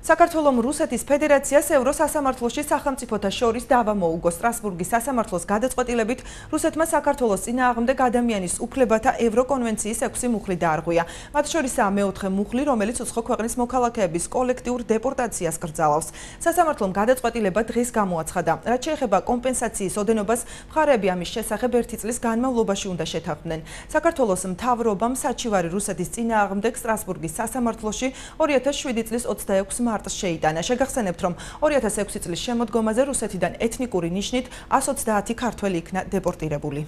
საქართველოს რუსეთის ფედერაციას ევროსასამართლოში სახელმწიფოთა შორის დავა მოუგო. სტრასბურგის სასამართლოს გადაწყვეტილებით რუსეთმა საქართველოს წინააღმდეგ ადამიანის უფლებათა ევროკონვენციის 6 მუხლი დაარღვია. მათ შორისაა მეოთხე მუხლი, რომელიც უცხო ქვეყნის მოქალაქეების კოლექტიურ დეპორტაციას კრძალავს. სასამართლომ გადაწყვეტილება დღეს გამოაცხადა. რაც შეეხება კომპენსაციის ოდენობას, მხარეები ამის შესახებ 1 წლის განმავლობაში უნდა შეთანხმდნენ. საქართველოს მთავრობამ საჩივარი რუსეთის წინააღმდეგ სტრასბურგის სასამართლოში 2007 წლის 26 მარტს შეიტანა. შეგახსენებთ, რომ 2006 წლის შემოდგომაზე რუსეთიდან ეთნიკური ნიშნით 130 ქართველი იქნა დეპორტირებული.